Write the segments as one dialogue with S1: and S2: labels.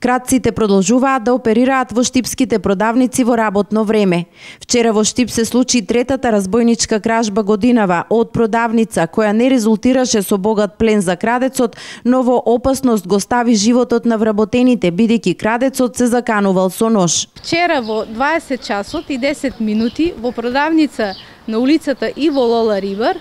S1: Кратците продолжуваат да оперираат во штипските продавници во работно време. Вчера во Штип се случи третата разбойничка кражба годинава од продавница, која не резултираше со богат плен за крадецот, но во опасност го стави животот на вработените, бидејќи крадецот се заканувал со нож.
S2: Вчера во 20 часот и 10 минути во продавница на улицата Иво Лола Рибар,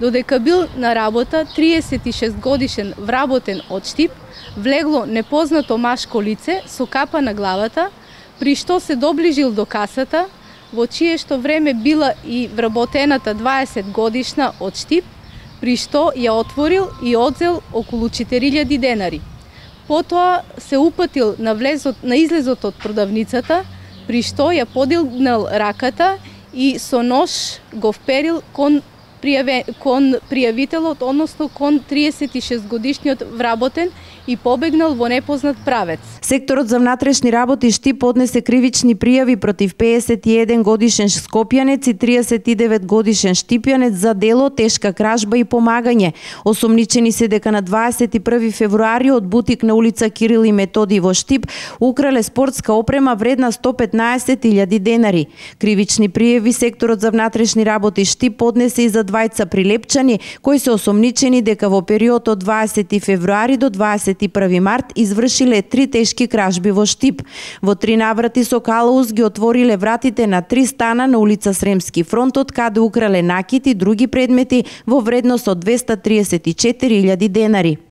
S2: додека бил на работа 36 годишен вработен од Штип, влегло непознато машко лице со капа на главата, при што се доближил до касата, во чие што време била и вработената 20 годишна од Штип, при што ја отворил и одзел околу 4000 денари. Потоа се упатил на излезот од продавницата, при што ја подигнал раката и со нож го вперил кон пријавителот, односно кон 36 годишниот вработен и побегнал во непознат правец.
S1: Секторот за внатрешни работи Штип поднесе кривични пријави против 51 годишен скопјанец и 39 годишен штипјанец за дело тешка кражба и помагање. Осомничени се дека на 21 февруари од бутик на улица Кирил и Методи во Штип украле спортска опрема вредна 115.000 денари. Кривични пријави секторот за внатрешни работи Штип поднесе и за двајца прилепчани кои се осомничени дека во период од 20 февруари до 21 март извршиле 3 тешки кражби во Штип. Во 3 наврати со калаус ги отвориле вратите на 3 стана на улица Сремски фронт, од каде украле накит и други предмети во вредност од 234.000 денари.